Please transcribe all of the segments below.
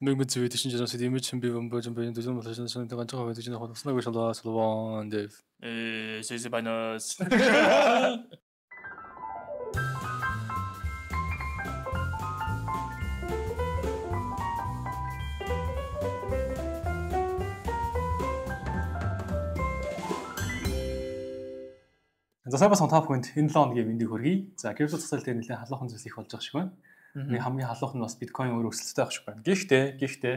Megmetsui düşünceden image bir bölüm benim düzgün ulaşan gançaga ve düzgün konusunda görüşürüz. Salvan dev. Sesi banos. За сайн басан та бүхэнд энэ 7 хоногийн мэндийг хүргэе. За крипто засал дээр нэлээд халуухан зүйлс их болж байгаа шиг байна. Нэг хамгийн халуухан нь бас биткойн өөр өсөлттэй байх шиг байна. Гэхдээ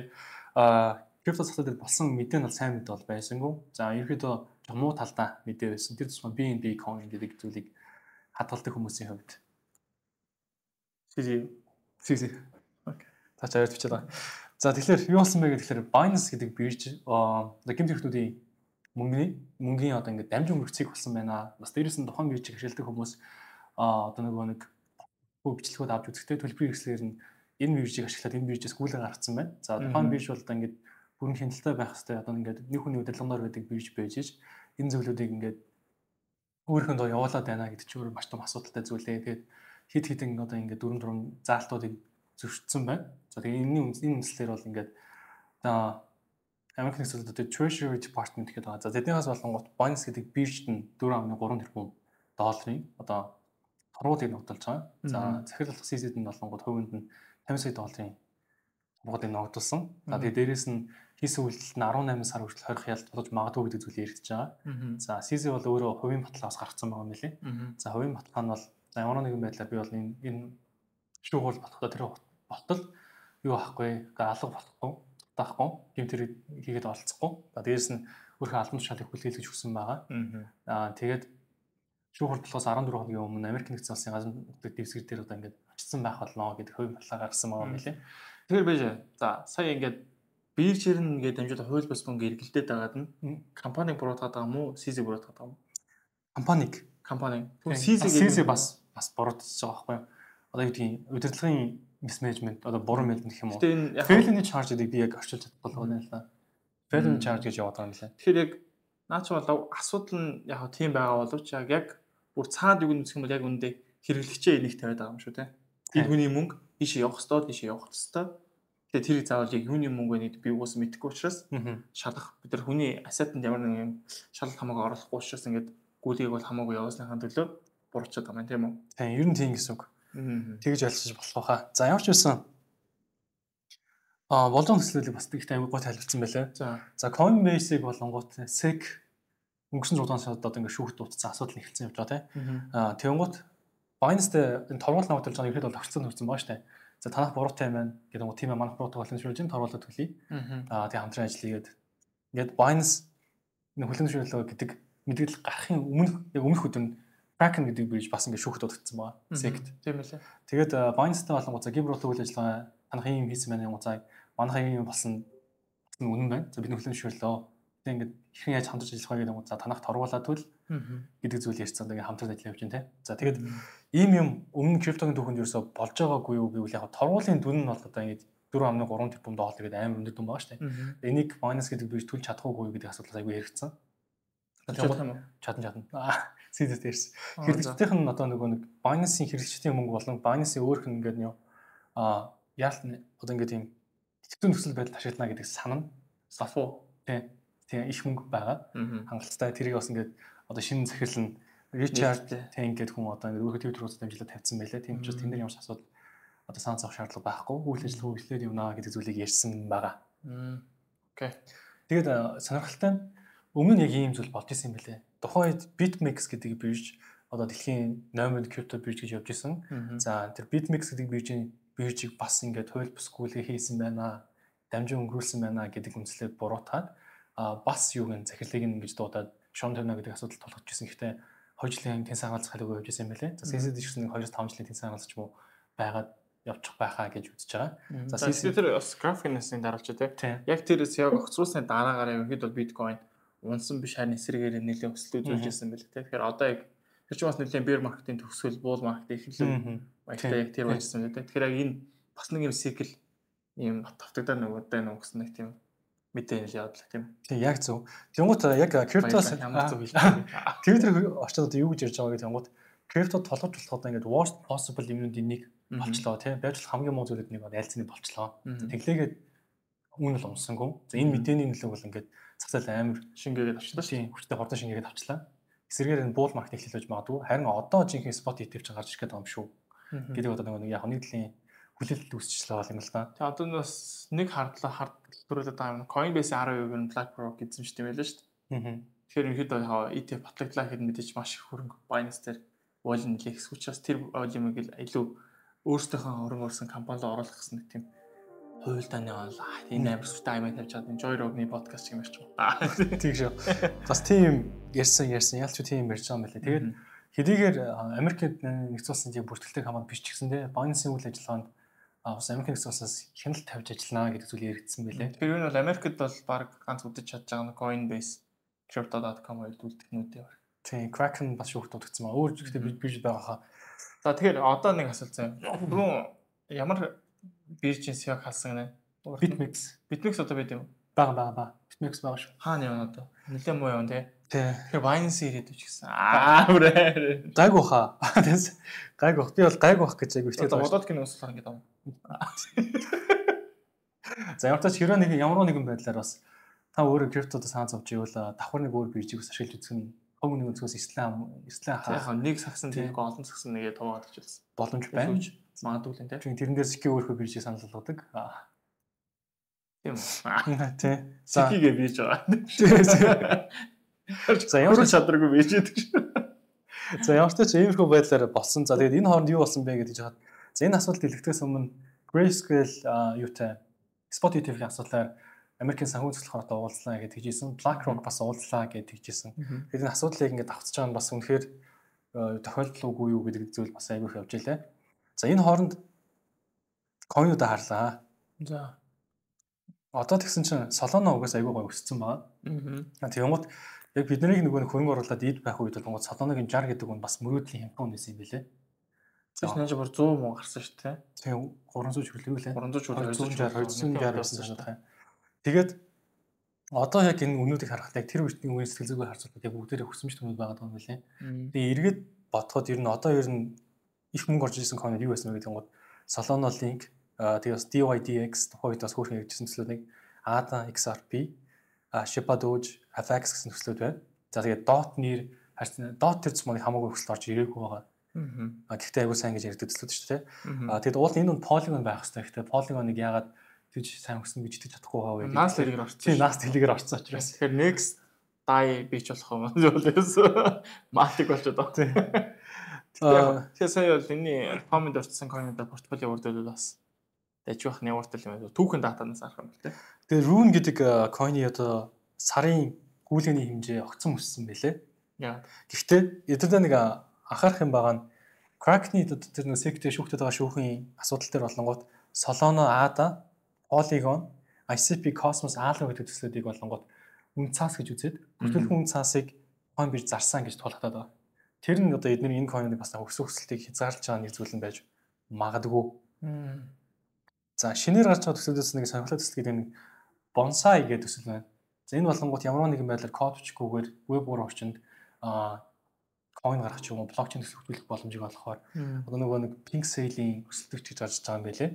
крипто засал дээр болсон мэдээ нь бол сайн мэдээ бол байсангүй. За ерөөдөө муу талдаа мэдээ байсан. Тэр тусмаа BNB coin гэдэг зүйлийг хадгалдаг хүмүүсийн хувьд. Си. Окей. Та чаяр бичээд байгаа. За тэгэхээр юу болсон бэ гэхээр Binance гэдэг бирж гэмт хэрэгтүүдийн мөнгөний одоо ингээд дамжин мөрцгийг болсон байна. Бас дээрээс нь тухайн биржийг ашигладаг хүмүүс одоо нэг бичлэгүүд авч үзэхдээ төлбөрийн хэрэгслээр нь энэ биржийг ашиглаад энэ биржээс гүйлэг гаргацсан байна. За тухайн бирж бол одоо ингээд бүрэн хяналттай байх хэрэгтэй одоо ингээд нэг хүний удирдлагаар байдаг бирж байж ш энэ зөвлөдүүдийг ингээд өөрийнхөө явуулаад байна гэдэг чинь өөр маш том асуудалтай зүйл ээ. Тэгээд хит одоо ингээд дөрөв заалтуудыг зөвшөөрсөн байна. За тэгээд энэ үндслээр бол ингээд одоо Америкийн хэсэгт одоо Treasury Department гэдэг байгаа. За тэднээс болонгот Binance гэдэг биржт нь 4.3 тэрбум долларын одоо торгуулийг ногдолж байгаа. За захирлах CZ нь болонгот хувинд нь 50 сая долларын торгуулийг ногдолсон. За тэгээд дээрэс нь хийсэн үйлдэлт нь 18 сар хүртэл 20 хяналт болж магадгүй гэдэг зүйл яригдж байгаа. За CZ бол өөрөө хувийн баталгаас гаргацсан байгаа юм лээ. За хувийн баталгаа нь бол ямар нэгэн байдлаар би бол энэ шүүх болохдоо тэр болтол юу ахгүй алга болохгүй таахгүй гэмт хэрэг хийгээд олцохгүй. Дээрээс нь өөрхөн албан тушаалыг хүлээлгэж өгсөн байгаа. Тэгээд шүүх хурлаас 14 хоногийн өмнө Америк нэгдсэн улсын газар нутгийн дэвсгэр дээр одоо ингээд очсон байх болно гэдэг хувийн баталгаа гаргасан байгаа юм лээ. Тэгэхээр байж за сая ингээд биржээр нь ингээд дамжуулаад хууль бус мөнгө эргэлдээд байгаад нь компаниг буруутгаад байгаа мó CZ буруутгаад байгаа мó? Компани. CZ бас буруутчихж байгаа байхгүй юу? Одоо юу гэдгийг удирдлагын mismanagement одоо буруу мэлдэн гэх юм уу. Failing charge гэдэг би яг орчуулж чадахгүй байна л да. Failing charge гэж яваад байгаа юм лээ. Тэгэхээр яг наач болов асуудал нь яг тийм байгаа боловч яг бүр цаад юу гэх юм бол яг үндэ хэрэглэгчээ энийг тавиад байгаа юм шүү те. Энэ хүний мөнгө ийшээ явах ёстой. Тэгээ тэрийг заавал яг юуны мөнгө вэ гэдээ би уус мэдэхгүй учраас шалгах бид нар хүний ассетанд ямар нэгэн шалгалт хамаагүй оруулахгүй учраас ингээд гүйлгийг бол хамаагүй явуулсныхаа төлөө буруучаад байгаа юм тийм үү? Тийм ер нь тийм гэсэн үг. Тэгж ялцаж болох байхаа. За ямар ч байсан болон төслөлийг бас тэгт аймаг гоо тайлбарсан байлаа. За Coinbase-ийг болонгууд SEC өнгөрсөн 6 сард одоо ингээд шүүхт дутсан асуудал эхэлсэн явж байгаа тийм. Тэгэнгუთ Binance-тэй энэ торгууль навталж байгаа ихэд бол огцсон нөрсөн байгаа штэ. За танах буруутай юм байна гэдэг нь тийм манах буруутай болсон шүүж ин торгуулаад төлье. Тэгээ хамтран ажиллаягээд ингээд Binance энэ хүлэмжлөлөө гэдэг мэдээлэл гарахын өмнөх өдөр Kraken гэдэг бирж бас ингээд шүүхт дутагдсан байгаа. SEC-т. Тийм ээ. Тэгээд Binance-тай болонгууд за гиброт үйл ажиллагаа танах юм хийсэн байна юм цаа манайх юм болсон үнэн байна. За бидний хүлэмжлөлөө тэг ингээд хэрхэн яаж хамтарч ажиллах вэ гэдэг нь за танах торгуулаад төл гэдэг зүйл ярьсан. Тэгээд хамтран ажиллаж явж байна те. За тэгээд ийм юм өмнө криптогийн түүхэнд ерөөсө болж байгаагүй юу гэвэл яг торгуулийн дүн нь бол одоо ингээд 4.3 тэрбум доллар гэдэг амар өндөр дүн байгаа шүү дээ. Энийг Binance гэдэг бирж төлж чадахгүй юу гэдэг асуудал айгүй яригдсан. Чадна. CZ дээрс. Хэрэглэгчдийн нь одоо нэг Binance-ийн хэрэглэгчдийн мөнгө болон Binance-ийн өөрх нь ингээд яалт одоо ингээд тийм хэцүү нөхцөл байдал ашиглана гэдэг санана. Сафу. Тийм их мөнгө байгаа. Хангалттай тэрийг бас ингээд одоо шинэ захирал нь Richard Teng гэдэг хүн одоо ингээд өөрхөн Twitter руу дамжуулаад тавьсан байлаа. Тийм учраас тэнд ямар ч асуудал одоо санаа зовх шаардлага байхгүй. Үйл ажиллагаа үйлчлээд явна гэдэг зүйлийг ярьсан байгаа. Окей. Тэгээд сонирхолтой нь өмнө нь яг ийм зүйл болж исэн юм байлээ. Тухайн үед BitMEX гэдэг бирж одоо дэлхийн номер крипто бирж гэж явж исэн. За тэр BitMEX гэдэг биржийг бас ингээд хууль бус гүйлгээ хийсэн байна. Дамжин өнгөрүүлсэн байна гэдэг үндэслэлээр буруутаад бас юу гэн захирлыг ингэж дуудаад шон тавина гэдэг асуудал тулгарч исэн. Гэхдээ 2 жилийн тэн сагалц халууг явж исэн юм байлээ. За CZ гэсэн 2-5 жилийн тэн сагалц ч юм уу байгаад явчих байхаа гэж үзэж байгаа. За CZ тэр бас графикнаас дараалж тий. Яг тэрээс яг огцруулсны дараагаар ерөнхийд бол биткойн унсан биш харин эсрэгээр нэлээд өсөлт үзүүлж ирсэн байл те. Тэгэхээр одоо яг тэр чинь бас нэлээд bear market-ийн төгсгөл bull market ихлэн баяртай яг тэр байжсан те. Тэгэхээр яг энэ бас нэг юм цикл ийм тавтагдаа нөгөөдөө өнгөсөн нэг тийм мэдээлэл явуулах тийм. Тийм яг зөв. Тэнгуут яг криптоос Twitter орчиод одоо юу гэж ярьж байгаа гэдэг тэнгуут крипто толгож болох одоо ингээд worst possible юмнуудын нэг болчлоо тийм. Байж бол хамгийн муу зүйлүүд нэг айлцны болчлоо. Тэглээгээд Үүн бол унсангүй. За энэ мэдээний нөлөөг бол ингээд зах зээл амар шингээгээд авчлаа. Тийм хүчтэй хурдан шингээгээд авчлаа. Эсвэргээр энэ буул маркетинг хэлэлж магадгүй. Харин одоо жинхэнэ спот ETF ч гарч ирэх гэдэг юм шүү. Гэдэг одоо нэг яг нийтлийн хүлээлт үүсчихлээ бол юм л да. Тэгээ одоо бас нэг хардлуулаад байгаа юм. Coinbase 10% нь BlackRock гэсэн ч тийм байлаа шүү дээ. Тэгэхээр ерөнхийдөө ETF батлагдлаа гэхэд мэдээж маш их хөрөнгө Binance дээр волн нэлээх учраас тэр волюмыг илүү өөрсдийнхөө хөрөнгө оруулсан компанид оруулах гэсэн нэг тийм хуйлдааны бол энэ амар сүртэй аймаг тавьж чад энэ Joy Rogan-ы подкаст юм ярьж байгаа. Тийм шүү. Бас тийм ярьсан ялч тийм ярьж байгаа юм байна лээ. Тэгээд хэдийгээр Америкт нэгдсэн улсын тийм бүртгэлтэй компани биш ч гэсэн те Binance-ийн үйл ажиллагаанд бас Америк нэгдсэн улсаас хяналт тавьж ажиллана гэдэг зүйл яригдсан байлээ. Тэр нь бол Америкт бол баг ганц үдэж чадж байгаа нь Coinbase, Crypto.com хоёр үлдэхнүүдээ байна. Тийм Kraken бас шүүхт утгацсан маа. Өөр гэхдээ бирж байгаа хаа. За тэгэхээр одоо нэг асуулт заяа. Түрүүн ямар биржийн SEO халсан гэнэ? BitMEX одоо байд юм. Бага. BitMEX байгаа шүү. Хаана явна одоо? Нилээн муу явна те. Тэгэхээр Binance ирээд үуч гэсэн. Гайг баха. Гайг бах. Би бол гайг бах гэж яг ихтэй байгаа. Бодоод гин ууслах ингээд авна. За ямар ч хэрэг нэгэн байдлаар бас та өөрөө криптод саан зовж ивэл давхар нэг өөр биржийг бас ашиглаж үзэх нь хөв нэг өнцгөөс Ислам хаа нэг сагсан тэрийг олон сагсан нэгээ туваад очилсан. Боломж байна. Магадгүй л тийм. Тэрэн дээр secure өөрхөө биржийг санал болгодог. Тийм. Тий. Secure бирж байгаа. За ямар ч чадваргүй бирж гэдэг шүү. За ямар ч иймэрхүү байдлаар болсон. За тэгээд энэ хооронд юу болсон бэ гэж хаад. За энэ асуудал дэлгэхээс өмнө Grayscale юутай Spot ETF-ийн асуудлаар Америкийн санхүү цэцлэх хортой уулзлаа гэж хэлжсэн. BlackRock бас уулзлаа гэж хэлжсэн. Тэгээд энэ асуудлыг ингээд давцаж байгаа нь бас үнэхээр тохиолдлоогүй юу гэдэг зүйл бас айгүйх явж илээ. За энэ хооронд coin-уудаа харлаа. За одоо тэгсэн чинь Solana угаас айгүй гой өссөн байгаа. Тэгмэд яг бидний нөгөө хөрөнгө оруулаад ийд байх үед бол Solana-гийн 60 гэдэг нь бас мөрөөдлийн хямдхан үнэс юм билээ. Тэгээс нэж бүр 100 муу гарсан шүү дээ. Тийм 300 хүрлээ үлээ. 260 байсан шүү дээ. Тэгээд одоо яг энэ үнүүдийг харахад яг тэр үеийн үнэ сэтгэл зүгээ харцуулбал яг бүгдээрээ хөсөмж төмөд байгаа юм билээ. Тэгээ эргээд бодоход ер нь их мөнгө орж ирсэн coin юу байсан бэ гэдэг нь Solana Link тэгээс DYDX тухайд бас хөөрхөн ярьжсэн төслүүдийг ADA XRP Shiba Doge FX гэсэн төслүүд байна. За тэгээд DOT нэр DOT тэр зүйл хамаагүй хөсөл орж ирээгүй байгаа. Гэхдээ айгуу сайн гэж ярьдаг төслүүд шүү дээ. Тэгэд уул энэ нь Polygon байх хэрэгтэй. Гэхдээ Polygon-ыг яагаад тэгж сайн хөснө гэж итгэж чадахгүй байгаа вэ? Nast хэлээр орсон. Тийм Nast хэлээр орсон учраас. Тэгэхээр next DAI бич болох юм зөвлөөс матик болчиход байгаа. Тэгэхээр сая бол энэ фонд орцсон coin-уудаа портфолио урдвал бас дэж байх нявартай юм байна. Түүхэн датанаас арах юм байна. Тэгээ Rune гэдэг coin-и одоо сарын гүйлгээний хэмжээ огцон өссөн байлээ. Гэхдээ эдгээр нэг анхаарах юм байгаа нь Kraken-ы тэр нэг сектэй шүүхтэд байгаа шүүхийн асуудал дээр болонгууд Solana, ADA, Polygon, ICP, Cosmos, Algo гэдэг төслүүдийг болонгууд үн цаас гэж үзээд бүртгүүлэн үн цаасыг coin бирж зарсан гэж тулгатаад байгаа. Тэр нь одоо эдгээр энэ coin-ыг бас өсөлтийг хязгаарлаж байгаа нэг зүйл нь байж магадгүй. За шинээр гарч байгаа төслүүдээс нэг сонирхолтой төсөл гэдэг нь Bonsai гэдэг төсөл байна. За энэ болонгууд ямар нэгэн байдлаар код бичгүйгээр веб уур орчинд coin гаргах ч юм уу блокчейн төсөл хөтөлөх боломжийг олгохоор одоо нөгөө нэг pink sale-ийн өсөлтөж гэж гарч байгаа юм байлээ.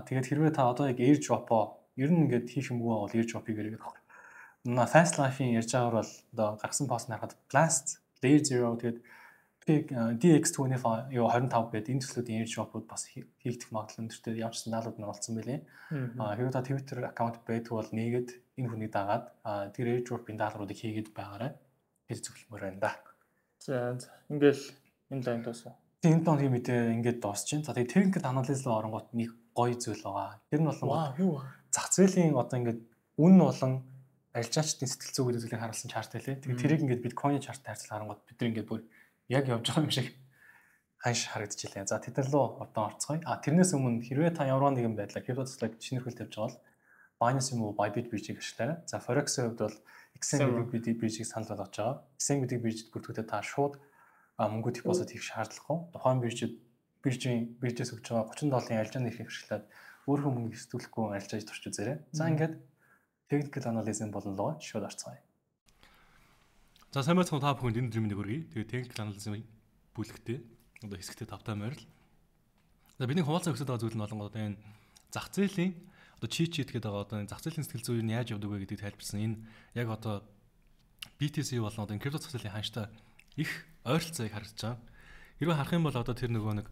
Тэгээд хэрвээ та одоо яг airdrop-оо ер нь ингээд хийх юмгүй бол airdrop-ийг хэрэглэх байх. Fast Life-ийн ярьж байгаагаар бол одоо гаргасан пост харахад Blast, Layer 0 тэгээд DX25 юу 25 гэдэг энэ төслүүдийн airdrop-ууд бас хийгдэх магадлал өндөртэй ямар ч санаалууд нь олцсон байлээ. Хэрвээ та Twitter аккаунт байдаг бол нээгээд энэ хүнийг дагаад тэр airdrop-ийн даалгавруудыг хийгээд байгаарай. Хэл зөвлөмөр байна да. За ингээл энэ лайн дуусаа. Энэ доогийн мэдээ ингээд дуусч байна. За тэгээд technical analysis руу оронгууд нэг гоё зүйл байгаа. Тэр нь болон зах зээлийн одоо ингээд үн болон арилжаачдын сэтгэл зүй гэдэг зүйлийг харуулсан чарт байлээ. Тэгээд тэрийг ингээд биткойн чарттай харьцуулж харангууд бид нар ингээд бүр яг явж байгаа юм шиг ханш харагдчихлаа. За тэд нар руу одоо орцгоё. Тэрнээс өмнө хэрвээ та ямар нэгэн байдлаар криптоцлог шинэрхүүл тавьж байгаа бол Binance юм уу Bybit биржийг ашиглаарай. За Forex-ийн хувьд бол XM гэдэг биржийг санал болгож байгаа. XM гэдэг биржид бүртгүүлээд та шууд мөнгө депозит хийх шаардлагагүй. Тухайн биржээс өгж байгаа $30 арилжааны эрхийг ашиглаад өөрийнхөө мөнгө сэтгүүлэхгүй арилжааж турч үзээрэй. За ингээд technical analysis болонлоо шууд орцгоё. За сайн байцгаана та бүхэнд энэ өдрийн хүргэе. Тэгээ technical analysis бүлэгтээ одоо хэсэгтээ тавтай морил. За бидний хуваалцах өсөд байгаа зүйл нь болонгод энэ зах зээлийн одоо cheat sheet гэдэг одоо зах зээлийн сэтгэл зүй нь яаж явдаг вэ гэдгийг тайлбарсан. Энэ яг одоо BTC болон одоо крипто зах зээлийн ханштай их ойролцоог харагдаж байгаа. Хэрвээ харах юм бол одоо тэр нөгөө нэг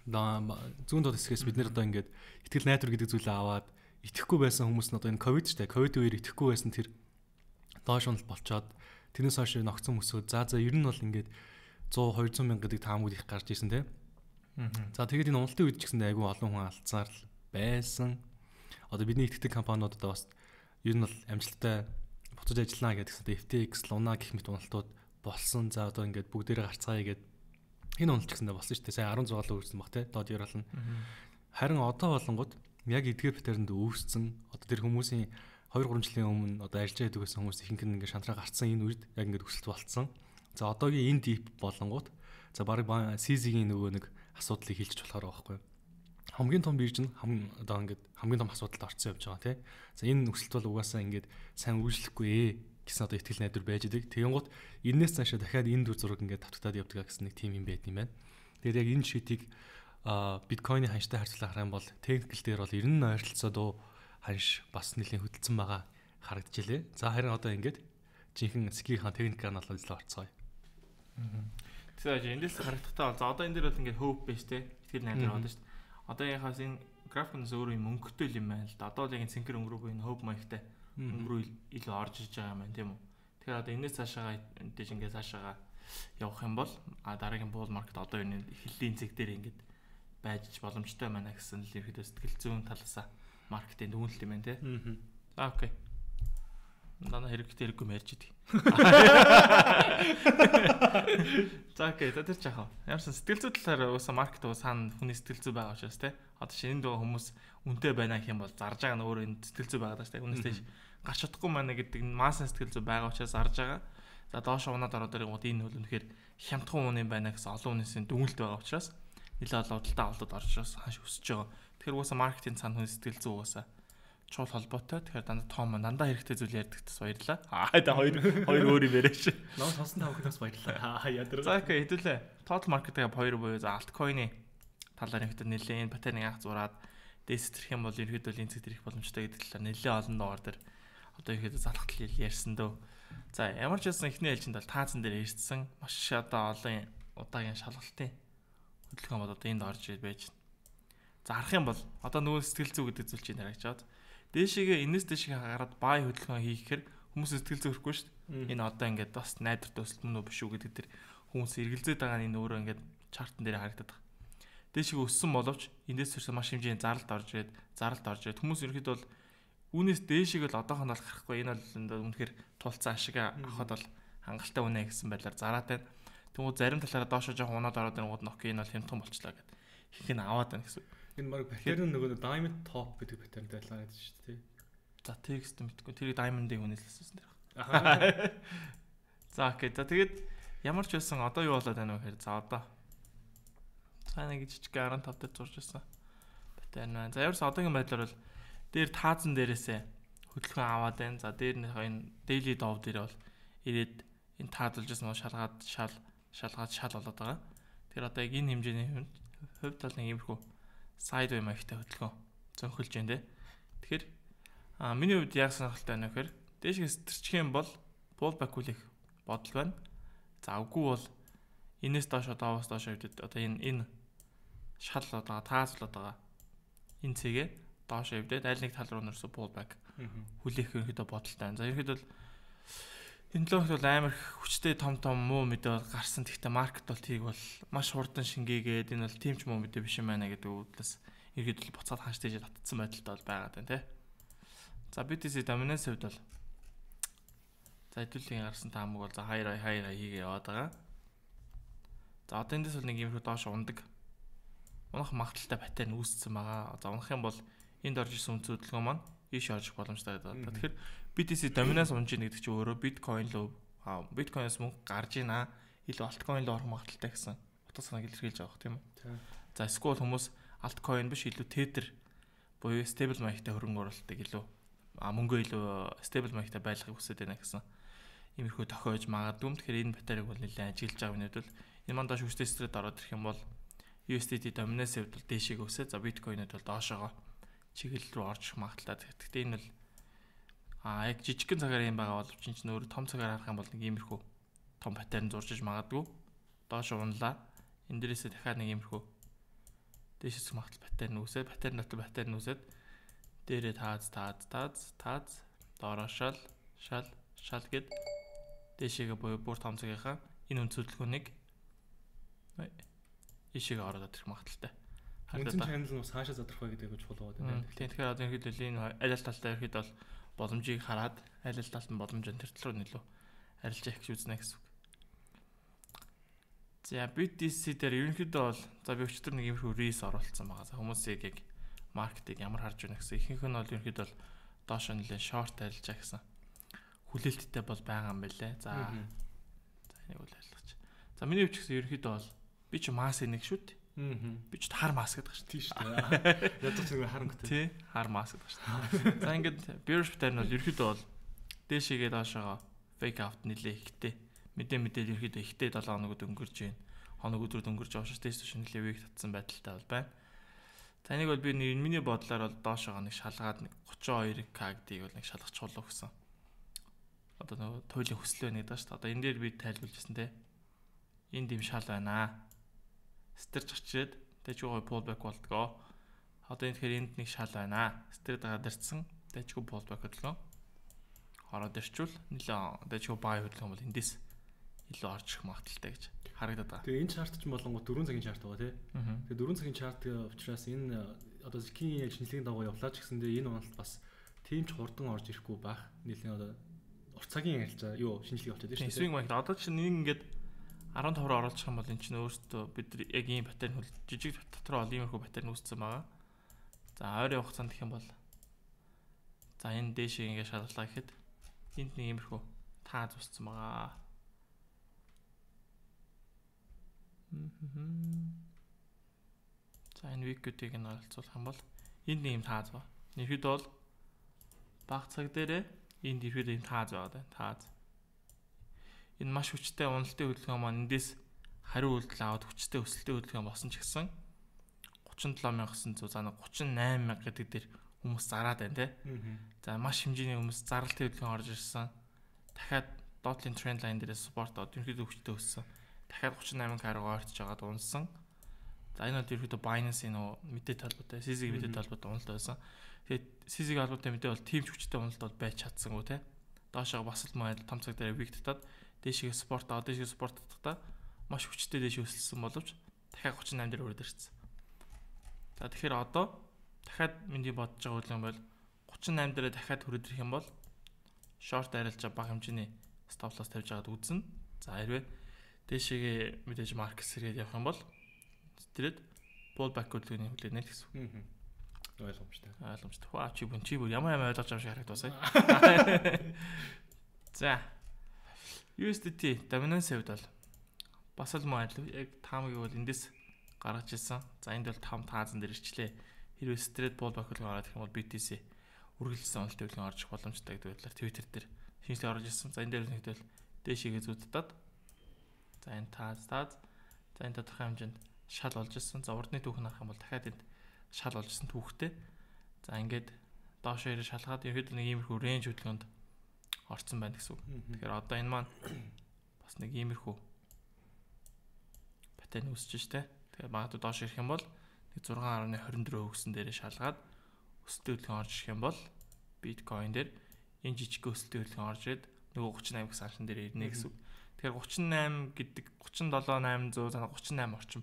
зүүн доод хэсгээс бид нэр одоо ингээд ихтгэл найдвар гэдэг зүйлээ аваад итгэхгүй байсан хүмүүс нь одоо энэ ковид штэ ковид үеэр итгэхгүй байсан тэр доош унал болчоод тэрнээс хойш ногцон өсөөд за ер нь бол ингээд 100 200 мянга гэдэг таамагуд их гарч ирсэн тийм. За тэгээд энэ уналтын үед ч гэсэн айгүй олон хүн алдсаар байсан. Одоо бидний итгэдэг компаниудад бас ер нь бол амжилттай буцаж ажиллана гэдэг FTX, Luna гэх мэт уналтууд болсон. За одоо ингээд бүгдээрээ гарцгаая гэдэг энэ уналт ч гэсэндээ болсон шүү дээ. Сая 16 л үүссэн баг те. Дод ярална. Харин одоо болонгод яг эдгээр паттернд үүссэн. Одоо тэр хүмүүсийн 2-3 жилийн өмнө одоо ажиллаж байдаг гэсэн хүмүүс ихэнх нь ингээд шантраа гарцсан энэ үед яг ингээд өсөлт болцсон. За одоогийн энэ дип болонгууд за баг CZ-ийн нөгөө нэг асуудлыг хэлж болохоор байгаа байхгүй. Хамгийн том бирж нь одоо ингээд хамгийн том асуудалд орцсон явж байгаа тий. За энэ өсөлт бол угаасаа ингээд сайн үргэлжлэхгүй гэсэн одоо ихтгэл найдвар байж байгаа. Тэгэнгუთ энэс цаашаа дахиад энэ дүр зураг ингээд тавтагдаад явдаг гэсэн нэг тим юм байт юм байна. Тэгээд яг энэ шитийг биткойны ханштай харьцуулаад харах юм бол техникл дээр бол 90 ойролцоо дөө ханш бас нэлийн хөдөлсөн байгаа харагдаж илээ. За харин одоо ингээд жинхэнэ скихийн техникээр нь олж орцгоё. Тэгэхээр эндээс харагдахтаа бол за одоо энэ дээр бол ингээд hope base те ихтгэл найдвар болно шүү дээ. Одоо яхаас энэ графикнаас өөрөө юм өнгөтэй юм байна л да. Одоо л яг энэ цэнхэр өнгөрөөгүй энэ hope маягтай өнгөрөө илүү орж иж байгаа юм байна тийм үү. Тэгэхээр одоо энэс цаашаа дэж ингээд цаашаа явах юм бол дараагийн bull market одоо энэ эхлэлийн зэг дээр ингээд байж боломжтой байна гэсэн л ерөөдөө сэтгэл зүйн талаасаа маркетинг дүгнэлт юм байна те. За окей. Дана хэрэггүй мэрж идэг. За окей, тэр чахаа. Ямарсан сэтгэл зүй талаар уусаа маркет уусаа хүний сэтгэл зүй байгаа учраас те. Одоо шинэ дөө хүмүүс үнэтэй байна гэх юм бол зарж байгаа нь өөрөө энэ сэтгэл зүй байгаа даа те. Үнээс тийш гарч чадахгүй маань гэдэг нь масс сэтгэл зүй байгаа учраас зарж байгаа. За доош унаад ороод ирэнгууд энэ хөл үнэхээр хямдхан хүн юм байна гэсэн олон хүнээс дүгнэлт байгаа учраас нэлээд олон худалдаа авалтад орж ирээс хаш өсөж байгаа. Тэгэхээр уусаа маркетинг цаана хүний сэтгэл зүй уусаа чуул холбоотой. Тэгэхээр дандаа том дандаа хэрэгтэй зүйл ярьдаг тас баярлаа. За хоёр өөр юм яриач. Ноо сонсон тавхнаас баярлаа. Ядар. За окей хэдүүлээ. Total market-ийн хоёр буюу за altcoin-ы талаар ихтэй нэлээд энэ паттерныг анх зураад дэстрэх юм бол ерөөдөө энэ зэгт ирэх боломжтой гэдэг талаар нэлээд олон доор дээр одоо ихэд залхтал ярьсан дөө. За ямар ч байсан эхний ээлжинд бол таацсан дээр ирсэн маш одоо олон удаагийн шалгалтын хөдөлгөөн бол одоо энд орж байж байна. За харах юм бол одоо нөгөө сэтгэл зүй гэдэг зүйл чинь харагдаад дээшээгээ энэс дээшээ гараад бай хөдөлгөөн хийхээр хүмүүс сэтгэл зүй өрөхгүй шүү дээ. Энэ одоо ингээд бас найдвар төсөл мөн үү биш үү гэдэг тэр хүмүүс эргэлзээд байгаа нь энэ өөрөө ингээд чартан дээр харагдаад байгаа. Дээшээгээ өссөн боловч эндээс төрсэн маш хэмжээний заралт орж ирээд хүмүүс ерөөхдөө бол үүнээс дээшээгээ л одоохонд бол гарахгүй энэ бол үнэхээр тулцсан ашиг авахд бол хангалттай үнэ гэсэн байдлаар зараатай. Тэгвэл зарим талаараа доошоо жоохон унаад ороод ирэнгууд нь окей энэ бол хямдхан болчлаа гэдэг. Их нь аваад байна гэсэн. Энэ баг паттерн нөгөө diamond top гэдэг паттернтэй байлаа гэдэг шүү дээ. За текст мэдгүй. Тэрийг diamond-ийн хүнээс л асуусан даа. Аа. За окей. За тэгээд ямар ч байсан одоо юу болоод байна вэ гэхээр за одоо цаана гэж жижиг 15 дээр зурж байсан. Паттерн байна. За ямарс одоогийн байдлаар бол дээр таазан дээрээсээ хөдөлгөөн аваад байна. За дээр нь энэ daily dove дээр бол ирээд энэ таазалж байсан шалгаад болоод байгаа. Тэр одоо яг энэ хэмжээний хувьд бол нэг иймэрхүү sideway маягтай хөдөлгөөн зөнхөлж байна те. Тэгэхээр миний хувьд яг сонирхолтой байна гэхээр дээшээс тэрчих юм бол pullback үлэх бодол байна. За үгүй бол энэс доош одоос доош хөвдөд одоо энэ шал одоо таазлаад байгаа энэ цэгээ доош хөвдөд аль нэг тал руу нэрсө pullback хүлээх ерөөдөө бодолтой байна. За ерөөдөө бол энэ логт бол амар хүчтэй том муу мэдээ бол гарсан. Гэхдээ маркет бол тийг бол маш хурдан шингээгээд энэ бол тийм ч муу мэдээ биш юм байна гэдэг үдлээс ерөөдөө буцаад ханштай татцсан байдалтай бол байгаад байна те. За BTC dominance хувьд бол за хэдүүлгийн гарсан таамаг бол за хаяа хийгээ яваад байгаа. За одоо эндээс бол нэг юм доош ундаг унах магадaltaй паттерн үүссэн байгаа. За унах юм бол энд орж исэн үнц хөдөлгөөн маань ийш орж боломжтой байдаг. Тэгэхээр BTC dominance унж ийн гэдэг чинь өөрөө биткойноос мөнгө гарж ийна. Илүү альткойн руу орох магадaltaй гэсэн утга санааг илэрхийлж байгаа тийм үү? За эсвэл хүмүүс альткойн биш илүү tether буюу stable маягтай хөрөнгө оруулалтыг илүү мөнгөө илүү stable маягтай байлгахыг хүсэж байна гэсэн иймэрхүү тохиож магадгүй. Тэгэхээр энэ батарейг бол нэлээд ажиглаж байгаа юм бол энэ мандаш хүчтэй стресд ороод ирэх юм бол USDT dominance хувьд бол дээшээ өсөө. За биткойнод бол доошоогоо чиглэл рүү орж ирэх магадaltaй. Гэхдээ энэ бол яг жижигхэн цагаар юм байгаа боловч энэ ч нөр том цагаар харах юм бол нэг иймэрхүү том паттерн зурж магадгүй. Доош унлаа. Энд дээрээсээ дахиад нэг иймэрхүү дээшээс магадл паттерн үүсээд паттерн дотор паттерн үүсээд дээрээ тааз доороо шал гэд дээшээгээ буюу бүр том цагийнхаа энэ өнцөдлгөөнийг ишиг ороод ирэх магадaltaй. Үндсэн channel нь цаашаа задрах гэдэг нь чухал байгаа юм. Тэгэхээр одоо ерөнхийдөө энэ аль аль талтай ерөнхийдөө бол боломжийг хараад аль аль талд нь боломж энэ төр рүү нөлөө арилжаа их үзнэ гэсэн үг. За BTC дээр ерөнхийдөө бол за би өчтөр нэг иймэрхүү рейс оруулсан байгаа. Хүмүүсийг яг маркетинг ямар харж байна гэсэн. Ихэнх нь бол ерөнхийдөө бол доош нэлээд шорт арилжаа гэсэн. Хүлээлттэй бол байгаа юм байлээ. За энийг бол ойлгоч. За миний хувьд гэсэн ерөнхийдөө бол би ч мас нэг шүү дээ. Би ч хар мас гэдэг шүү дээ. Тийм шүү дээ. Ядаж нэг харангуйтай. Тий, хар мас гэдэг шүү дээ. За ингээд bearish pattern бол ерөнхийдөө бол дээшээгээ доошоо fake out нэлээ ихтэй. Мэдээ ерөнхийдөө ихтэй 7 хоногуд өнгөрж байна. Хоног өдрүүд өнгөрж байгаа шүү дээ. Тэс нэлээ week татсан байдалтай бол байна. Таныг бол би миний бодлоор бол доошоо нэг шалгаад нэг 32k гэдгийг бол нэг шалгачихулаа гэсэн. Одоо нөгөө туйлын хүсэл байна гэдэг шүү дээ. Одоо энэ дээр би тайлбарлажсэн те. Энд юм шал байна. Стэрч очиад дэжгүй pullback болдгоо. Одоо энэ тэгэхээр энд нэг шал байна. Стэр дагадарсан дэжгүй pullback хөдөлгөөн. Ороод ирчүүл нэлээ дэжгүй buy хөдөлгөөн бол эндээс илүү орж ирэх магадaltaй гэж харагдаад байгаа. Тэгээ энэ чарт ч болонгоо 4 цагийн чарт байгаа тий. Тэгээ 4 цагийн чарт учраас энэ одоо зэкийн яг шинжилгээний дагуу явлаа ч гэсэндээ энэ онолд бас тийм ч хурдан орж ирэхгүй байх. Нийлэн одоо урт цагийн ярилцаа юу шинжилгээ болчиход байна шүү дээ. Swing market одоо чинь нэг ингээд 15-аар оруулах юм бол эн чинь өөртөө бид нар яг ийм паттерн хөл жижиг дотроо ол иймэрхүү паттерн үүссэн байгаа. За ойрын хугацаанд гэх юм бол за энэ дээшээ ингээд шалгалаа гэхэд энд нэг иймэрхүү тааз үүссэн байгаа. За энэ викүүдийг нь оролцуулах юм бол энд нэг юм тааз ба. Ерхэд бол баг цаг дээрээ энд ерхэд юм тааз байгаа даа. Тааз. Энэ маш хүчтэй уналтын хөдөлгөөн маань эндээс хариу үйлдэл аваад хүчтэй өсөлтийн хөдөлгөөн босон ч гэсэн 37900 за 38000 гэдэг дээр хүмүүс зараад байна те. За маш хэмжээний хүмүүс зарлалтын хөдөлгөөн орж ирсэн. Дахиад доотлын тренд лайн дээрээ спорт од ерөнхийдөө хүчтэй өссөн. Дахиад 38000 руу ойртож байгаад унсан. За энэ бол ерөнхийдөө Binance-ийн мэдээ талбартай, CZ-ийн мэдээ талбартай уналт байсан. Тэгээд CZ-ийн албатай мэдээ бол тийм ч хүчтэй уналт бол байж чадсангүй те. Доошоо бас л маяг том цаг дээр вик татаад дээшээ спорт татахдаа маш хүчтэй дээш өсөлсөн боловч дахиад 38 дээр өрөөд ирсэн. За тэгэхээр одоо дахиад миний бодож байгаа үйл юм бол 38 дээрээ дахиад хүрээд ирэх юм бол шорт арилжаа бага хэмжээний стоп лосс тавьж байгаад үзнэ. За хэрвээ дээшээгээ мэдээж маркет сэргээд явах юм бол тэрээд pullback хөдөлгөөний хүлээнэ л гэсэн. Ойлгомжтой. Ваа чи бүр ямар ойлгож байгаа шиг харагдвасаа. За USDT dominance хувьд бол бас л мөн яг таамагийг бол эндээс гаргаж ирсэн. За энд бол 5 таазан дээр ирчлээ. Хэрвээ straight pullback хөдөлгөөн ороод ирэх юм бол BTC үргэлжлсэн уналтын хөдөлгөөн орж боломжтой гэдэг байдлаар Twitter дээр шинжилгээ орж ирсэн. За энэ дээр нэгдэл дээшээгээ зүүддээд за энэ тааз за энэ тодорхой хэмжээнд шал болж ирсэн. За урдны түүх харах юм бол дахиад энд шал болж ирсэн түүхтэй. За ингээд доошоо ирээ шалгаад ерөөд нэг иймэрхүү range хөдөлгөөнд орцсон байна гэсэн үг. Тэгэхээр одоо энэ маань бас нэг иймэрхүү паттерн үүсэж штэ. Тэгэхээр магадгүй доош ирэх юм бол нэг 6.24 өгсөн дээрээ шалгаад өсөлтийн хөдөлгөөн орж ирэх юм бол биткойн дээр энэ жижиг өсөлтийн хөдөлгөөн орж ирээд нөгөө 38 гэсэн саншин дээр ирнэ гэсэн үг. Тэгэхээр 38 гэдэг 37.800 38 орчим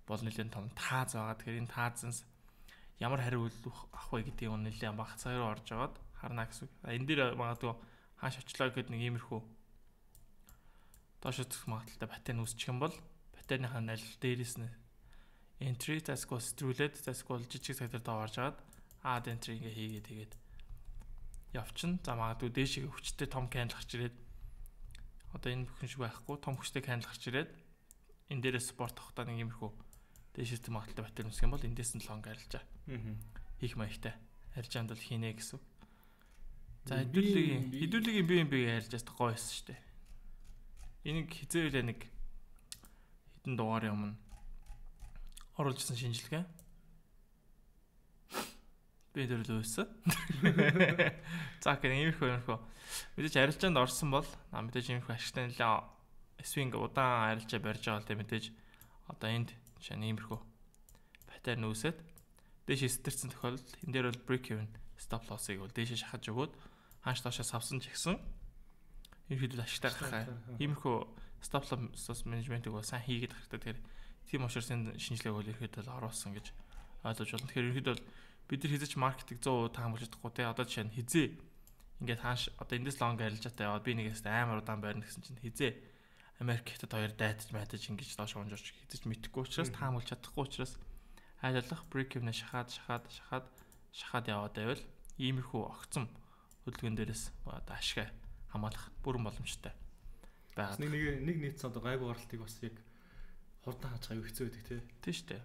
бол нэлээд том тааз байгаа. Тэгэхээр энэ таазанс ямар хариу үйлдэл авах вэ гэдгийг нэлээд бага цаг руу орж аваад харна гэсэн үг. Энэ дээр магадгүй хааш очлоо гэхэд нэг иймэрхүү доош үзэх магадaltaй паттерн үүсчих юм бол паттерныхаа аль дээрээс нь entry засгүй стрүүлээд засгүй жижиг цаг дээр доо орж аваад add entry ингээ хийгээд тэгээд явчихна. За магадгүй дээшээ хүчтэй том candle гарч ирээд одоо энэ бүхэн шиг байхгүй том хүчтэй candle гарч ирээд энэ дээрээ support авахдаа нэг иймэрхүү дээшээс магадaltaй паттерн үүсэх юм бол эндээс нь long арилжаа. Хийх маягтай арилжаанд бол хийнэ гэсэн. За хэдүүлгийн BNB ярьж байгаа гоё байсан шүү дээ. Энийг хизээвлээ нэг хэдэн дугаарын өмнө оруулжсэн шинжилгээ. Би дөрөлөөсөн. За гэх иймэрхүү. Мэдээж арилжаанд орсон бол мэдээж иймэрхүү ашигтай нэлээ свинг удаан арилжаа барьж байгаа л тэ мэдээж одоо энд жишээ нь иймэрхүү паттерн үүсээд дээш стэрсэн тохиолдолд энэ дээр бол break even stop loss-ыг бол дээшээ шахаж өгөөд хааш доошоо савсан ч гэсэн ерөнхийдөө ашигтай гарах. Иймэрхүү stop loss management-ыг бол сайн хийгээд хэрэгтэй. Тэгэхээр тийм учраас энэ шинжилгээг бол ерөнхийдөө оруулсан гэж ойлгож байна. Тэгэхээр ерөнхийдөө бид нар хизээч маркетинг 100% таамаглаж чадахгүй те. Одоо жишээ нь хизээ ингээд хааш одоо эндээс лонг арилжаатай яваад би нэгээс амар удаан байрна гэсэн чинь хизээ Америк хятад хоёр дайтаж майтаж ингэж доош унжирч хизээч мэдхгүй учраас таамаглаж чадахгүй учраас айлалах break even шахаад яваад байвал иймэрхүү огцом хөдөлгөөн дээрээс одоо ашиг хамгаалах бүрэн боломжтой байгаа. Нэг нийт одоо гайгүй гаралтыг бас яг хурдан хааж гайгүй хэцүү байдаг тий. Тийм шүү дээ.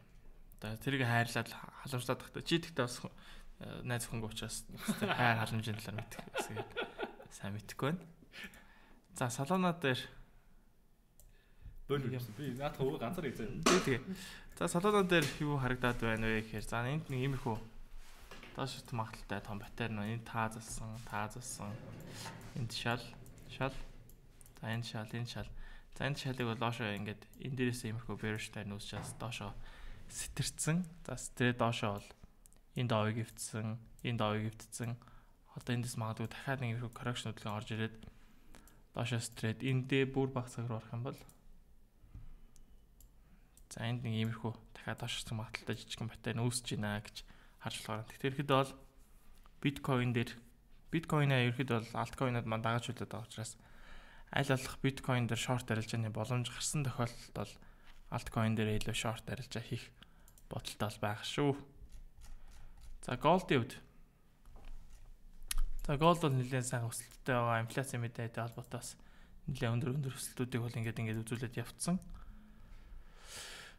Одоо тэрийг хайрлаад халамжлаад тахта. Чи тэгтээ бас найз охингүй учраас хайр халамжийн талаар мэдэх гэсэн сайн мэдэхгүй байна. За салоноо дээр би наадах өвөө ганцаар хийzээ. Тэгээ. За салоноо дээр юу харагдаад байна вэ гэхээр за энд нэг иймэрхүү доош магталтай том паттерн байна. Энд таазалсан. Энд шал. За энэ шал. За энэ шалыг бол доошоо ингээд энэ дээрээс иймэрхүү bearish-тай нүүсчээс доошоо сэтэрсэн. За стрээ доошоо бол энд овыг эвдсэн. Одоо эндээс магадгүй дахиад нэг иймэрхүү correction хөдөлгөөн орж ирээд доошоо стрээд эндээ бүр бага цаг руу орох юм бол за энд нэг иймэрхүү дахиад доошсон магадaltaй жижигхэн паттерн үүсэж байна гэж харж болохоор. Тэгэхээр ихэд бол биткойнаа ерөөхдөө бол альткойнод маань дагаж үлдээд байгаа учраас аль болох биткойн дээр шорт арилжааны боломж гарсан тохиолдолд бол альткойн дээр илүү шорт арилжаа хийх бодолтой бол байх шүү. За голдын хувьд. За голд бол нэлээд сайн өсөлттэй байгаа. Инфляцийн мэдээтэй холбоотой бас нэлээд өндөр өсөлтүүдийг бол ингээд үзүүлээд явцсан.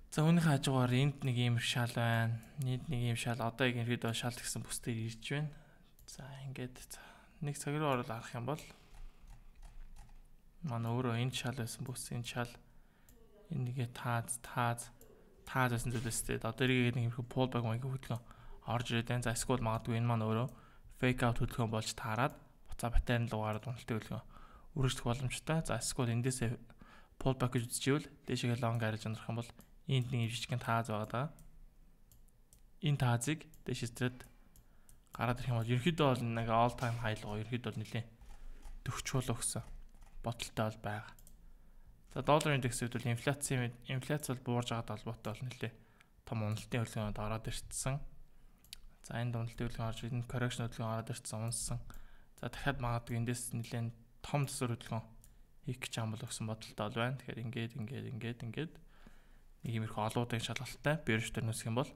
За үүнийхээ хажуугаар энд нэг ийм шал байна. Энд нэг ийм шал. Одоо яг ерөөдөө шал гэсэн бүсдээр ирж байна. За ингээд нэг цаг руу орол арах юм бол манай өөрөө энэ шал байсан бүс энэ шал энэ нэгэ тааз байсан зүйлээстэй. Одоо эргээд нэг юм pullback маягийн хөдөлгөөн орж ирээд байна. За эсвэл магадгүй энэ маань өөрөө fake out хөдөлгөөн болж таарад буцаа паттерн руу гараад уналтын хөдөлгөөн үргэлжлэх боломжтой. За эсвэл эндээсээ pullback гэж үзчихвэл дээшээ long гараж ундрах юм бол энд нэг жижигхэн тааз байгаа даа. Энэ таазыг дээшээ стрээд гараад ирэх юм бол ерөөхдөө бол нэг all time high руу ерөөхдөө бол нэлээд төгчүүлэх гэсэн бодолтой бол байгаа. За доллар индекс үед бол инфляц бол буурж байгаад холбоотой бол нэлээд том уналтын хөдөлгөөнд ороод ирсэн. За энэ уналтын хөдөлгөөн орж энэ correction хөдөлгөөн ороод ирсэн унсан. За дахиад магадгүй эндээс нэлээд том төсөр хөдөлгөөн хийх гэж юм бол гэсэн бодолтой бол байна. Тэгэхээр ингээд нэг иймэрхүү олуудын шалгалттай bearish дээр нүсэх юм бол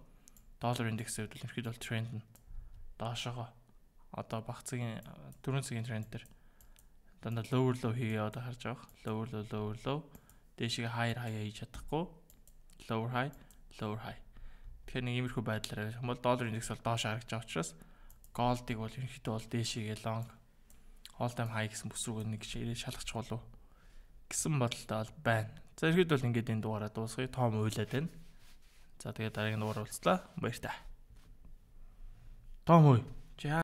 доллар индекс үед бол ерөөхдөө бол тренд нь доошоо одоо багцгийн 4 цагийн тренд дээр дандаа lower low хийгээ одоо харж байгаа. Lower low дээшээ higher хийж чадахгүй. Lower high. Тэгэхээр нэг иймэрхүү байдлаар юм бол доллар индекс бол доош харагдж байгаа учраас голдыг бол ерөнхийдөө бол дээшээ long all time high гэсэн бүс рүү нэг ирээ шалгачих болов гэсэн бодолтой бол байна. За ерөнхийдөө бол ингээд энэ дугаараа дуусгая. Том уйлаад байна. За тэгээд дараагийн дугаар уулзлаа. Баярлалаа. Том уу.